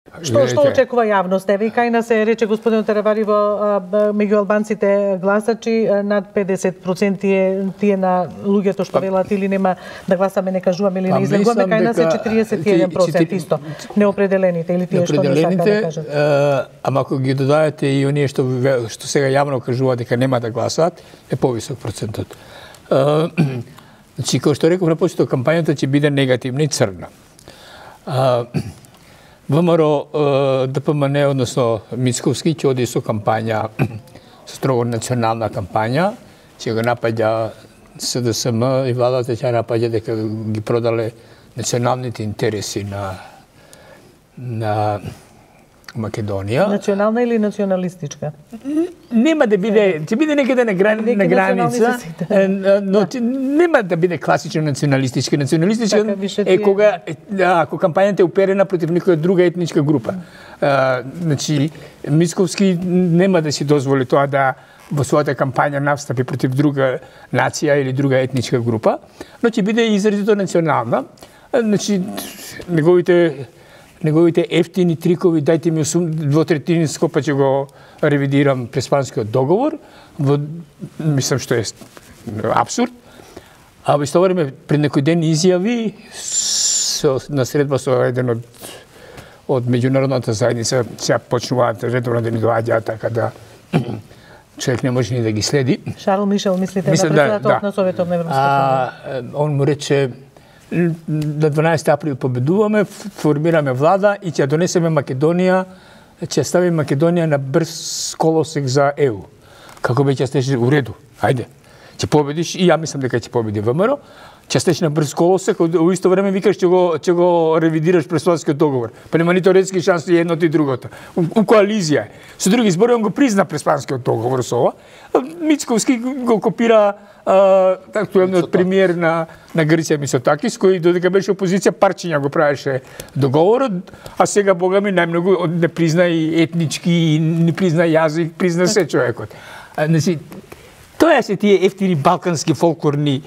Што очекува јавност? Еве и кај нас се рече господин Теревари меѓу албанците гласачи над 50% тие на луѓето што велат или нема да гласаме, не кажуваме или не излегуваме, кај нас е 41% исто неопределените или тие што не сакаат да кажат. Ама ако ги додадете и оние што сега јавно кажуваат дека нема да гласаат, е повисок процентот. Значи, како што реков на почеток, кампањата ќе биде негативна и црна. ВМРО ДПМН, односно Мицковски, ќе оди со кампања, строго национална кампања, ќе го напаѓа СДСМ и владата ќе напаѓа дека ги продале националните интереси на Македонија. Национална или националистичка? Нема да биде, ќе биде некаде на граница, но нема да биде класично националистичка. Националистичка е кога ако кампањата е уперена против некоја друга етничка група. Значи, Мицковски нема да си дозволи тоа да во својата кампања настапи против друга нација или друга етничка група, но ќе биде изразито национална. Значи, неговите ефтини трикови, дајте ми 2/3 па ќе го ревидирам Преспанскиот договор, мислам што е апсурд. А во исто време пред некој ден изјави на средба со еден од меѓународната заедница, сега почнуваат редовно да ни доаѓаат, така да човек не може ни да ги следи. Шарл Мишел, мислите, на председателот на Советот на Европската унија? Он му рече на 12 април победуваме, формираме влада и ќе донесеме Македонија, ќе ставиме Македонија на брз колосек за ЕУ. Како би ќе стеше у реду? Ајде. Ќе победиш и ја мислам дека ќе победи ВМРО. Ќе стеш на брз колосек, во исто време викаш ќе го ревидираш Преспанскиот договор. Па нема ни теоретски шанси едното и другото. У коализија. Со други зборови он го призна Преспанскиот договор со ова. Мицковски го копира актуелниот премиер на Грција Мицотакис, кој додека беше опозиција парчиња го правеше договорот, а сега богами најмногу не призна и етнички, не призна јазик, призна се човекот. Значи, тоа се тие ефтини балкански фолклорна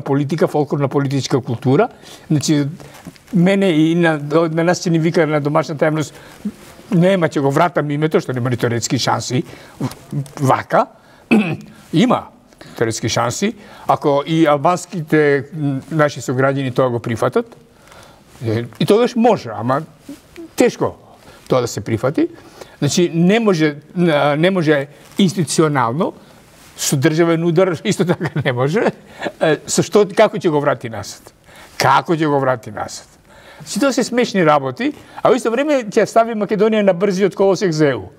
политика, фолклорна политичка култура. Значи, мене и на нас ќе ни вика на домашната јавност, нема ќе го вратам името, што нема ни теоретски шанси, вака. Има теоретски шанси, ако и албанските наши сограѓани тоа го прифатат, и тогаш може, ама тешко тоа да се прифати. Значи, не може институционално, со државен удар исто така не може. Како ќе го врати назад? Како ќе го врати назад? Значи, тоа се смешни работи, а во исто време ќе стави Македонија на брзиот колосек за ЕУ.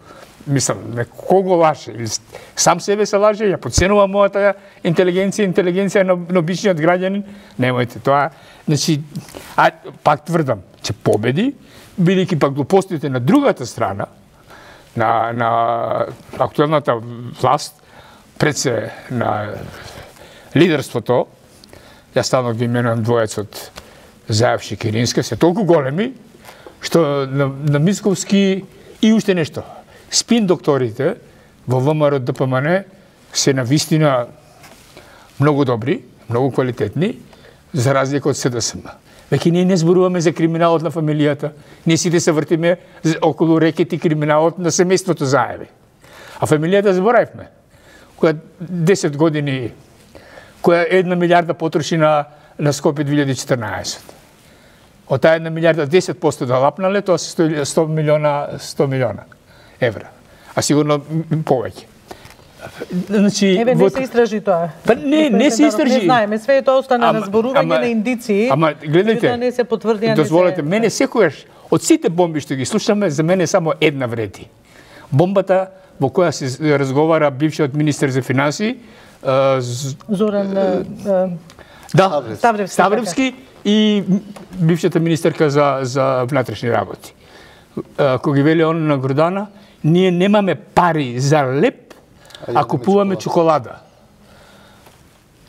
Мислам, кого лаже? Или сам себе се лаже? Ја подценува мојата интелигенција на обичниот граѓанин? Немојте тоа. Значи, пак тврдам, ќе победи, бидејќи пак глупостите на другата страна, на актуелната власт, пред се на лидерството, ја станок ги именувам двоецот Заев Шекеринска, се толку големи, што на Мицковски и уште нешто. Спин докторите во ВМРО ДПМН се навистина многу добри, многу квалитетни, за разлика од СДСМ. Веќе ние не зборуваме за криминалот на фамилијата, ние сите се вртиме околу рекети криминалот на семејството Заеви. А фамилијата заборавме, која 10 години, која 1 милиарда потроши на Скопје 2014. Од таа 1 милиарда 10% да лапнале, тоа се 100 милиона евра. А сигурно повеќе. Значи, еве, не се истражи тоа. Па не се истражи. Не знаеме, све тоа остана на зборување на индиции. Ама гледайте, не се потврди, дозволете, мене секогаш од сите бомби што ги слушаме, за мене само една вреди. Бомбата во која се разговара бившиот министер за финансии, Зоран Ставревски и бившата министерка за внатрешни работи. Кога ги вели он на Гордана, ние немаме пари за леп, а купуваме чоколада.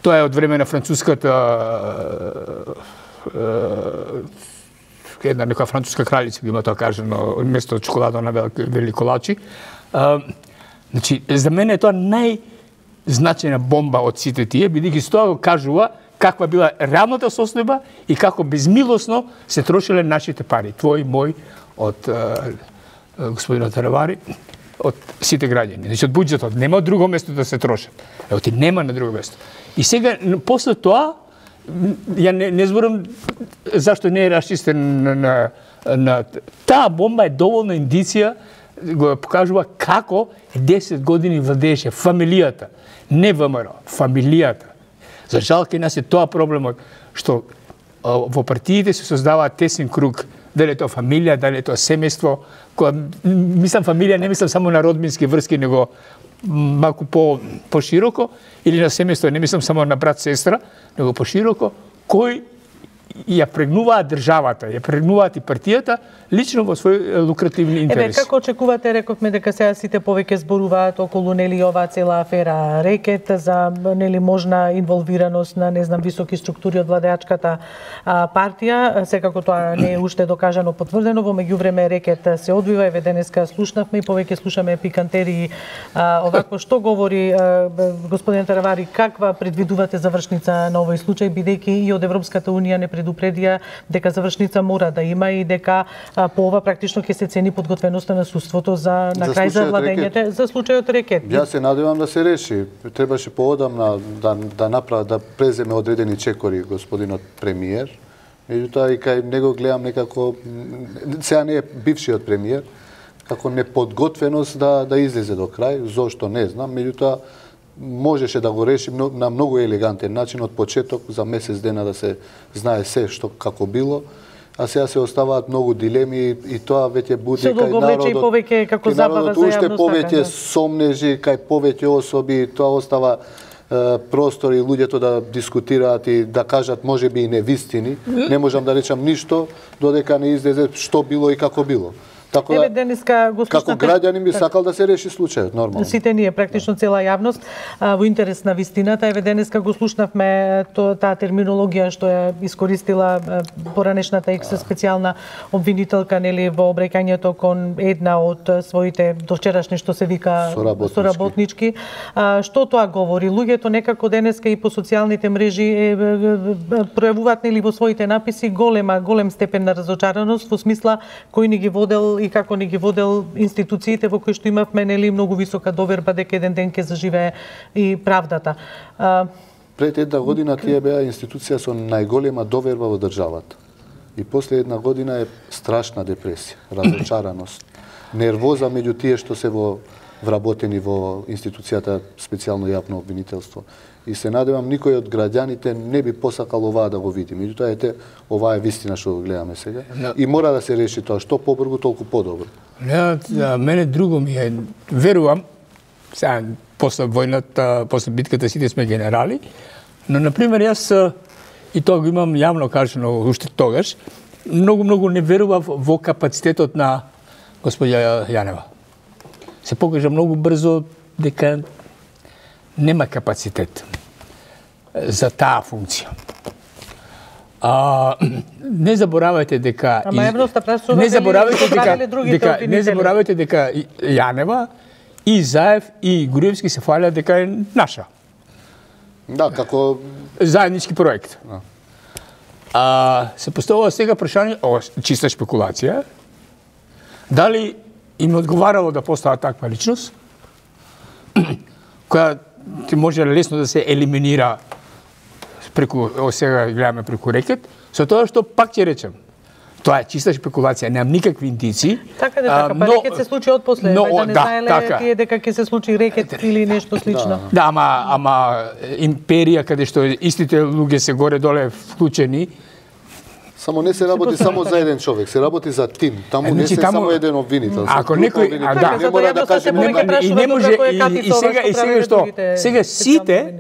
Тоа е од време на француската една некоја француска кралица има тоа кажано, место чоколада на вели колачи. Значи, за мене е тоа најзначајна бомба од сите тие, бидејќи тоа го кажува каква била реалната состојба и како безмилосно се трошеле нашите пари, твои, мој, од господинот Таравари, од сите граѓани. Значи, од буџетот. Нема од друго место да се трошат. Ти нема на друго место. И сега, после тоа, ја не зборам зашто не е расчистен на таа бомба е доволна индиција, го покажува како 10 години владееше фамилијата, не ВМРО, фамилијата. За жал кај нас е тоа проблемот, што во партиите се создава тесен круг, дали е тоа фамилија, дали е тоа семејство, која, мислам фамилија, не мислам само на родбински врски, него малку по-широко, или на семејство, не мислам само на брат, сестра, него по-широко, кој ја прегнуваат државата, ја прегнуваат и партијата, лично во свој лукративни интереси. Како очекувате, рековме дека сега сите повеќе зборуваат околу нели оваа цела афера Рекет за нели можна инволвираност на не знам високи структури од владеачката партија, секако тоа не е уште докажано потврдено, во меѓувреме Рекет се одвива, еве денеска слушнавме и повеќе слушаме пикантерии овакво што говори господин Таравари, каква предвидувате завршница на овој случај, бидејќи и од Европската унија не предупредија дека завршница мора да има и дека по ова практично ќе се цени подготвеноста на судството за на крај за владењето за случајот Рекет. Јас се надевам да се реши. Требаше поодамна да преземе одредени чекори господинот премиер. Меѓутоа и кај него гледам некако, сега не е бившиот премиер, како неподготвеност да излезе до крај, зошто не знам, меѓутоа можеше да го реши на многу елегантен начин од почеток, за месец дена да се знае се што како било, а сега се оставаат многу дилеми и тоа веќе буди кај народот, повеќе како забава за уште повеќе сомнежи, кај повеќе особи, тоа остава простор и луѓето да дискутираат и да кажат можеби и невистини. Не можам да речам ништо додека не излезе што било и како било. Така да, денеска го како граѓанин би сакал да се реши случајот, нормално. Сите ние, практично цела јавност, во интерес на вистината. Еве денеска го слушнавме таа терминологија што ја искористила поранешната специјална обвинителка нели во обреќањето кон една од своите довчерашни што се вика соработнички. Што тоа говори? Луѓето некако денеска и по социјалните мрежи пројавуваат нели во своите написи голем степен на разочараност во смисла кој ни ги водел и како ни ги водел институциите во кои што имавме нели многу висока доверба дека еден ден ќе заживее и правдата. Пред една година тие беа институција со најголема доверба во државата. И после една година е страшна депресија, разочараност, нервоза меѓу тие што се вработени во институцијата специјално јавно обвинителство. И се надевам никој од граѓаните не би посакал оваа да го види. Меѓутоа оваа е вистина што го гледаме сега. И мора да се реши тоа, што побрзо толку подобро. Мене друго ми е, верувам, сега после војната, после битката сите сме генерали, но например јас и тоа го имам јавно кажано уште тогаш, многу не верував во капацитетот на господја Јанева. Се покажа многу брзо дека нема капацитет за таа функција. Не заборавајте дека не заборавајте дека Јанева и Заев и Груевски се фалят дека е наша. Да, како заеднички проект. Се поставува сега прашање, чиста шпекулација, дали им одговарало да постава таква личност, која ти може лесно да се елиминира преку, сега гледаме преку Рекет, со тоа што пак ќе речем, тоа е чиста шпекулација, немам никакви индици. Така па Рекет се случи одпосле, да не знаеле тие дека ќе се случи Рекет или нешто слично. Да, ама империја каде што истите луѓе се горе-доле вклучени, само не се работи само за еден човек, се работи за тим. Таму не се само еден обвинител. Ако некој, не мора да каже и не може и сега што сега сите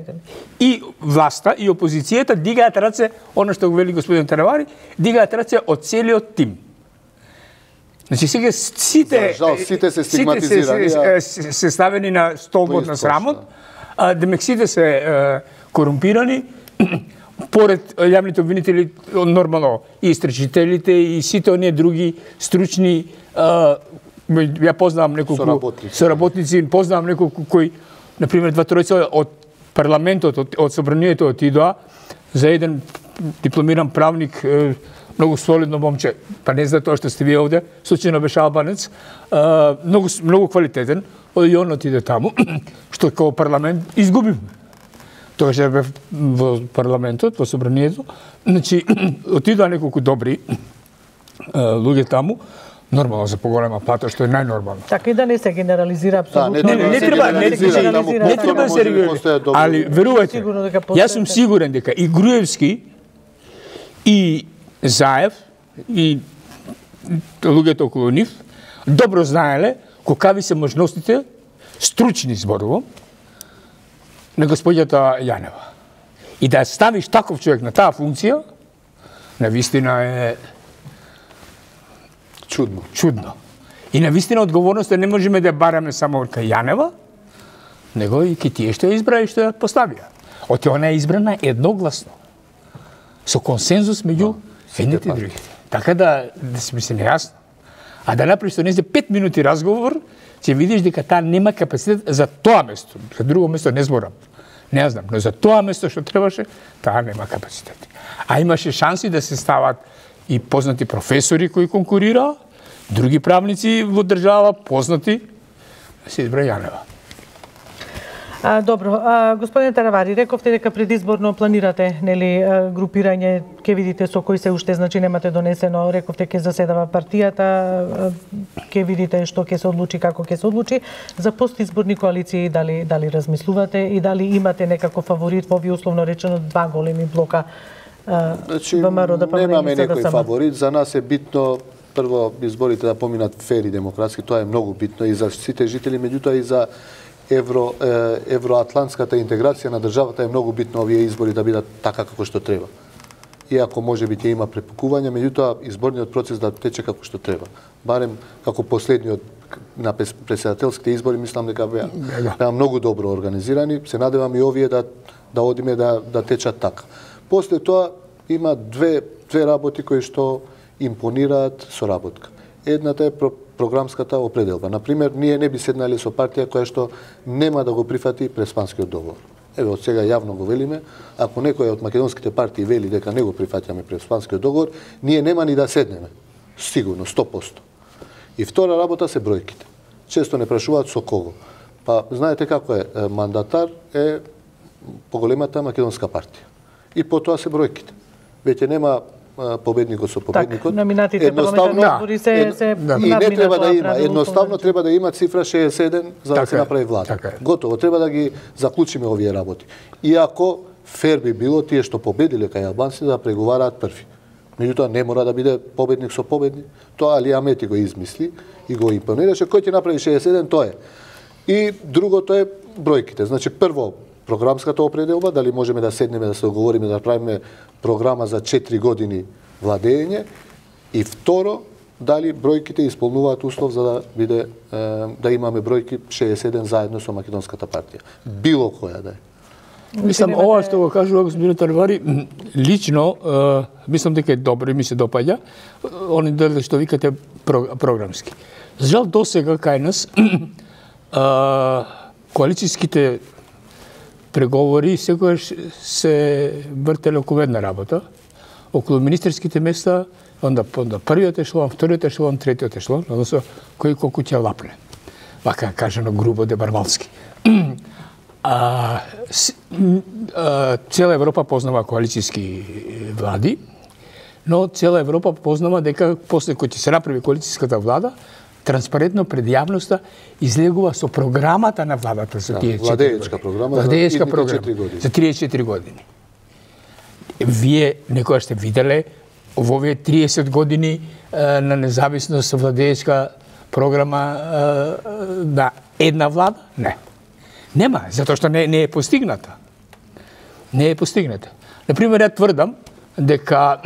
и власта и опозицијата дигаат раце, она што го вели господин Таравари, дигаат раце од целиот тим. Значи сега сите се стигматизирани, се ставени на столбот на срамот, демек сите се корумпирани. Поред јавните обвинители, нормално, и истрачителите, и сите оние други стручни, ја познавам неколку соработници, познавам неколку кои, например, 2-3 од парламентот, од собранието отидоа, за еден дипломиран правник, многу солидно момче, па не за тоа што сте вие овде, случајно беше албанец, многу квалитетен, и он отиде таму, што како парламент изгубивме. Тогаш бев во парламентот, во собранието, значи отидоа неколку добри луѓе таму, нормално за поголема плата, што е најнормално. Така и да не се генерализира апсолутно. Не треба да се генерализира. Али верувајте, јас сум сигурен дека и Груевски и Заев и луѓето околу нив добро знаеле какви се можностите, стручни зборувам, на господјата Јанева. И да ставиш таков човек на таа функција, навистина е чудно. И навистина одговорноста не можеме да бараме само кај Јанева, него и ки тие што ја избра и што ја поставија. Оти она е избрана едногласно, со консензус меѓу едните и другите. Така да сме се нејасно. А да направиш со незе 5 минути разговор, ќе видиш дека таа нема капацитет за тоа место. За друго место не зборам. Не знам, но за тоа место што требаше, таа нема капацитет. А имаше шанси да се стават и познати професори кои конкурираа, други правници во држава, познати, се избра Јанева. Добро, господине Таравари, рековте дека предизборно планирате, нели, групирање, ќе видите со кои се уште, значи немате донесено, рековте ќе заседава партијата, ќе видите што ќе се одлучи, како ќе се одлучи. За постизборни коалиции дали размислувате и дали имате некако фаворит во овие условно речено два големи блока? Значи, немаме некој фаворит, за нас е битно прво изборите да поминат фер и демократски, тоа е многу битно и за сите жители, меѓутоа и за евроатлантската интеграција на државата е многу битно овие избори да бидат така како што треба. Иако можеби ќе има препукување, меѓутоа изборниот процес да тече како што треба. Барем како последниот на претседателските избори, мислам дека беа многу добро организирани. Се надевам и овие да одиме да течат така. После тоа има две работи кои што импонираат соработка. Едната е програмската определба. Например, ние не би седнале со партија која што нема да го прифати Преспанскиот договор. Еве, од сега јавно го велиме, ако некој од македонските партии вели дека не го прифаќаме Преспанскиот договор, ние нема ни да седнеме. Сигурно, 100%. И втора работа се бројките. Често не прашуваат со кого. Па, знаете како е, мандатар е поголемата македонска партија. И потоа се бројките. Веќе нема победникот со победникот. Номинатите парламентарни избори се и не треба да има, едноставно треба да има цифра 61 за да се направи влада. Готово, треба да ги заклучиме овие работи. Иако фер би било тие што победиле кај албанците да преговараат први. Меѓутоа не мора да биде победник со победник. Тоа Али Амети го измисли и го импонираше. Кој ќе направи 61, тоа е. И другото е бројките. Значи прво програмската определба, дали можеме да седнеме да се договориме да правиме програма за 4 години владење, и второ, дали бројките исполнуваат услов за да биде да имаме бројки 61 заедно со македонската партија. Било која да е. Мислам, ова што го кажува господин Таравари, лично мислам дека е добро и ми се допаѓа. Они дали што викате програмски. За жал досега кај нас коалицијските преговори секогаш се вртеле околу една работа, околу министерските места, онда првиот ешелон, вториот ешелон, третиот ешелон, односно кој колку ќе лапне. Вака кажано грубо дебарвалски. Цела Европа познава коалицијски влади, но цела Европа познава дека после кој ќе се направи коалицијската влада, транспарентно пред јавноста излегува со програмата на владата за тие 4 години. Владеечка програма за 34 години. Вие некоја сте виделе во овие 30 години на независност владеечка програма на една влада? Не. Нема, затоа што не е постигната. Не е постигната. Например, ја тврдам дека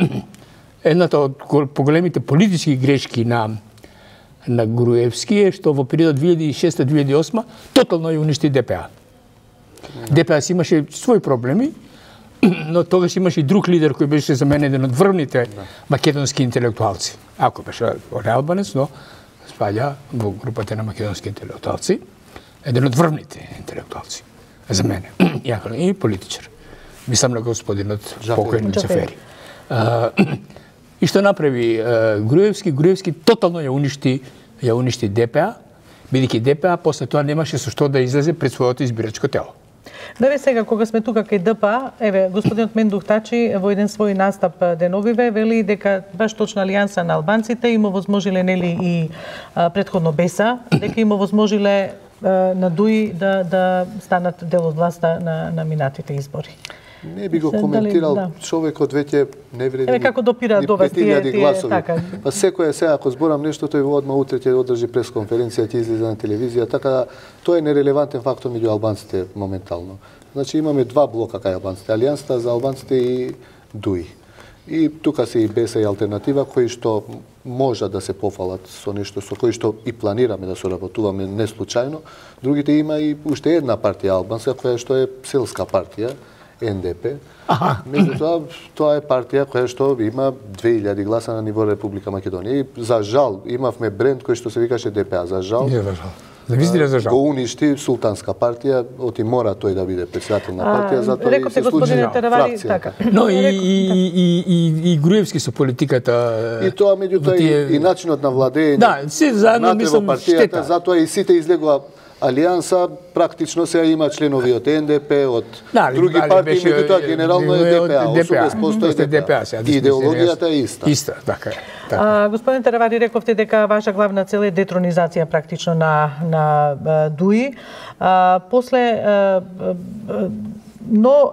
едната од поголемите политички грешки на Груевски е што во периодот 2006-2008 тотално ја уништи ДПА. ДПА си имаше своји проблеми, но тогаш имаше и друг лидер кој беше за мене еден од врвните македонски интелектуалци. Ако беше албанец, но спаѓа во групата на македонски интелектуалци, еден од врвните интелектуалци за мене, и политичар. мислам на господинот покојен Џафери. Џафери. И што направи Груевски тотално ја уништи ДПА, бидејќи ДПА после тоа немаше со што да излезе пред своето избирачко тело. Да, сега кога сме тука кај ДПА, господинот Мендух Тачи во еден свој настап деновиве вели дека баш точно Алијанса на албанците им овозможиле нели и претходно БЕСА, дека им овозможиле на ДУИ да станат дел од власта на минатите избори. Не би го коментирал, човекот веќе не вреди. Како допира до вас тие така. Па секој сега ако зборам нешто, тој одма утре ќе одржи пресконференција, ќе излезе на телевизија, така тоа е нерелевантен фактор меѓу албанците моментално. Значи имаме два блока кај албанците, Алијансата за албанците и ДУИ. И тука се и БЕСА и алтернатива кои што можат да се пофалат со нешто со кои што и планираме да соработуваме не случајно. Другите има и уште една партија албанска која што е селска партија, НДП. Меѓутоа, тоа е партија која што има 2000 гласа на ниво Република Македонија. И за жал имавме бренд кој што се викаше ДПА. За жал. Го уништи султанска партија, оти мора тој да биде председател на партија, затоа и се случи фракција. Но и Груевски со политиката. И тоа меѓутоа и начинот на владење. Да, се заедно мислам штета. Затоа и сите излегува Алијанса практично сега има членови од НДП, од други партии, меѓутоа генерално е ДПА, 80% е ДПА. Идеологијата е иста. Иста, така е. Господин Теравари, рековте дека ваша главна цел е детронизација практично на ДУИ. После но,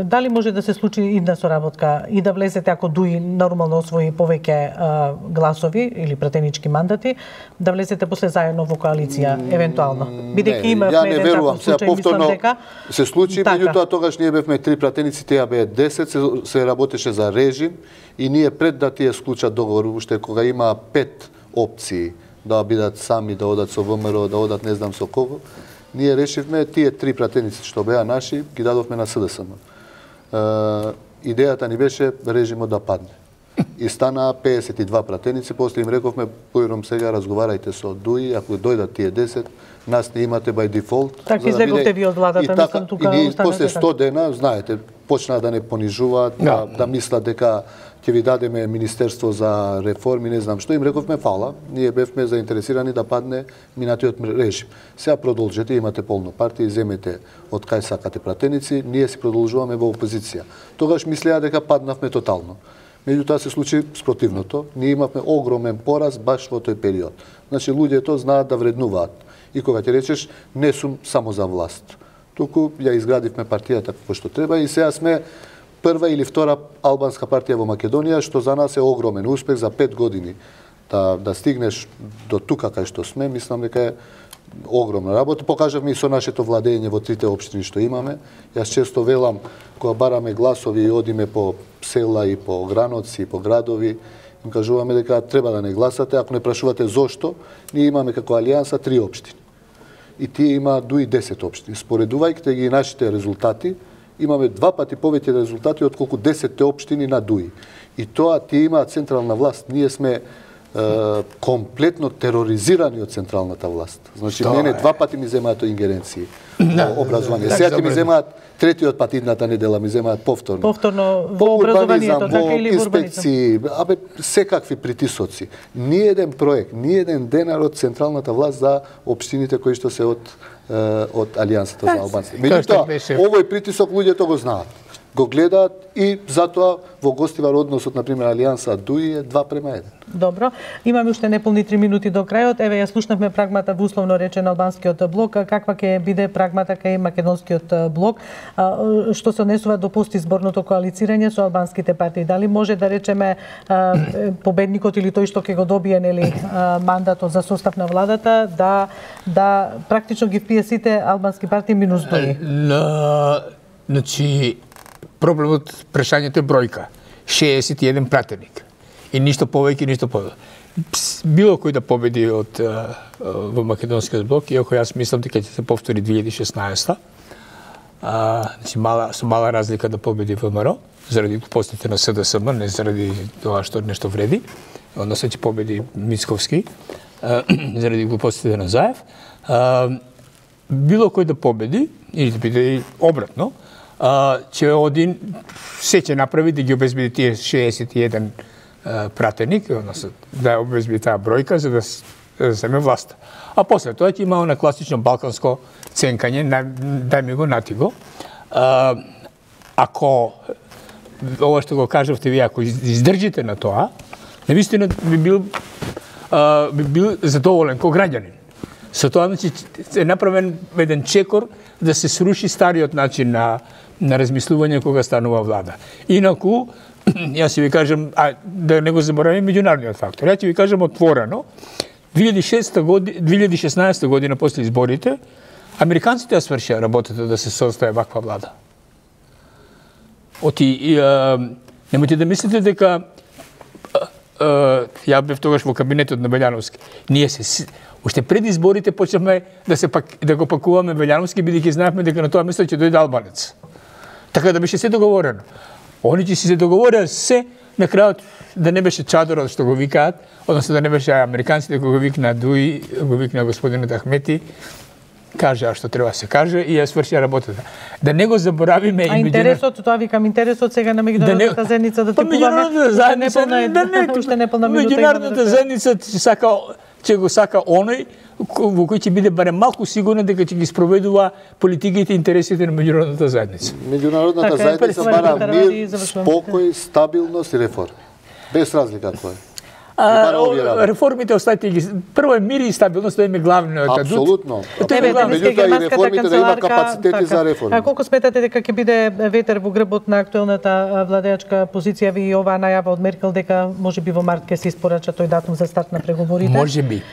дали може да се случи идна соработка и да влезете ако ДУИ нормално освои повеќе гласови или пратенички мандати, да влезете после заедно во коалиција, евентуално? Бидејќи има еден таков случај, мислам дека се случи, меѓутоа тогаш ние бевме 3 пратеници, тие беа 10, се работеше за режим и ние пред да тие склучат договор, уште кога има 5 опции да бидат сами, да одат со ВМРО, да одат не знам со кого, ние решивме тие 3 пратеници што беа наши, ги дадовме на СДСМ. Идејата ни беше режимот да падне. И стана 52 пратеници, после им рековме, појром сега разговарајте со ДУИ, ако дојдат тие 10, нас не имате by default. Така излеговте ви од владата, мислам тука. И после 100 дена, знаете, почнаа да не понижуваат, да мислат дека ќе ви дадеме Министерство за реформи, не знам што, им рековме фала, ние бевме заинтересирани да падне минатиот режим. Сега продолжете, имате полно партија, земете од кај сакате пратеници, ние си продолжуваме во опозиција. Тогаш мислеа дека паднавме тотално. Меѓутоа се случи спротивното, ние имавме огромен пораз баш во тој период. Значи луѓето знаат да вреднуваат. И кога ќе речеш, не сум само за власт. Туку ја изградивме партијата како што треба и сега сме прва или втора албанска партија во Македонија, што за нас е огромен успех за 5 години. Да стигнеш до тука кај што сме, мислам дека е огромна работа. Покажавме и со нашето владење во 3 општини што имаме. Јас често велам, кога бараме гласови и одиме по села и по граноци и по градови, им кажуваме дека треба да не гласате, ако не прашувате зошто, ние имаме како Алијанса 3 општини. И тие има дуи 10 општини. Споредувајќи ги нашите резултати, имаме 2 пати повеќе резултати отколку 10 општини на ДУИ. И тоа тие имаат централна власт. Ние сме комплетно тероризирани од централната власт. Значи, мене 2 пати ми земаат ингеренции во образование. Сега ќе ми земаат третиот пат идната недела, ми земаат повторно. Повторно во образованието, така или во инспекции, секакви притисоци. Ни еден проект, ни еден денар од централната власт за општините кои што се од Алијансата за албанците. Меѓутоа, овој притисок луѓето го знаат. Го гледаат и затоа во гостивар односот, например, Алијанса ДУИ е 2:1. Добро. Имаме уште неполни 3 минути до крајот. Еве, ја слушнавме прагмата во условно речен албанскиот блок. Каква ќе биде прагмата кај македонскиот блок? Што се однесува до постизборното коалицирање со албанските партии? Дали може да речеме победникот или тој што ќе го добие нели мандатот за состав на владата да практично ги впие сите албански партии минус ДУИ? Значи, проблемот, прашањето е бројка. 61 пратеник. И ништо повеќе, ништо повеќе. Било кој да победи во македонскиот блок, иако јас мислам дека ќе се повтори 2016. Значи, со мала разлика да победи ВМРО, заради глупостите на СДСМ, не заради тоа што нешто вреди, односно ќе победи Мицковски, заради глупостите на Заев. Било кој да победи, или да биде обратно, ќе один се ќе направи да ги обезбеди тие 61 пратеник, односно да обезбеди таа бројка за да земе власта. А после тоа ќе има она класично балканско ценкање, дај ми го, нати го. Ако ова што го кажавте вие, ако издржите на тоа, навистина би бил задоволен ко граѓанин. Со тоа значи е направен еден чекор да се сруши стариот начин на размислување кога станува влада. Инаку, јас ќе ви кажам, да не го заборавим меѓународниот фактор. Ја ќе ви кажам отворено, 2016 година после изборите, американците ја свршија работата да се состави ваква влада. Немојте да мислите дека ја бев тогаш во кабинетот на Белјановски. Ние уште пред изборите почнавме да го пакуваме Белјановски, бидејќи знаевме дека на тоа место ќе дојде албанец. Така да беше се договорено. Они ќе се договорија се, на крајот да не беше чадорот што го викаат, односно да не беше американците кои го викна Дуи, го викна господинот Ахмети, кажа што треба да се каже и ја сврши работата. Да не го заборавиме и интересот, тоа викам интересот сега на меѓународната заедница да тргуваме. Уште неполна минута. Меѓународната заедница ќе го сака оној во кој ќе биде барем малку сигурен дека ќе ги спроведува политиките и интересите на меѓународната заедница. Меѓународната заедница бара мир, спокој, стабилност и реформи. Без разлика кој. Реформите оставите ги. Прво е мир и стабилност, тоа е главниот адут. Апсолутно. Меѓутоа и реформите да има капацитети за реформи. А колку сметате дека ќе биде ветер во грбот на актуелната владеачка позиција ви и оваа најава од Меркел дека можеби во март ќе се испорача тој датум за старт на преговорите? Можеби.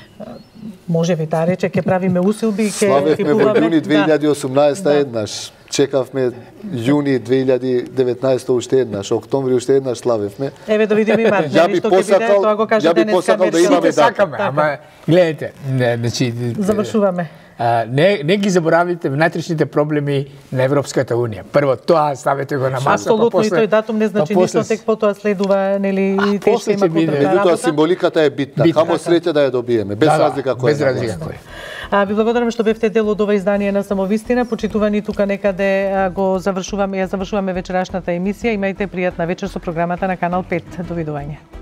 Можеби, таа рече, ќе правиме усилби, ќе славевме во јуни 2018 еднаш. Чекавме јуни 2019 уште еднаш, октомври уште еднаш славевме. Еве да видиме и март, нели што ќе биде, тоа го кажа денеска да имаме сакаме, ама гледате, значи завршуваме. Не ги заборавите внатрешните проблеми на Европската унија. Прво тоа ставете го на маса, апсолутно и тој датум не значи ништо, тек потоа следува нели и тешка има контролна работа. Меѓутоа символиката е битна. Камо среќа да ја добиеме, без разлика која. Без разлика која. Ви благодарам што бевте дел од ова издание на Самовистина. Почитувани тука некаде го завршуваме вечерашната емисија. Имајте пријатна вечер со програмата на Канал 5. Довидување.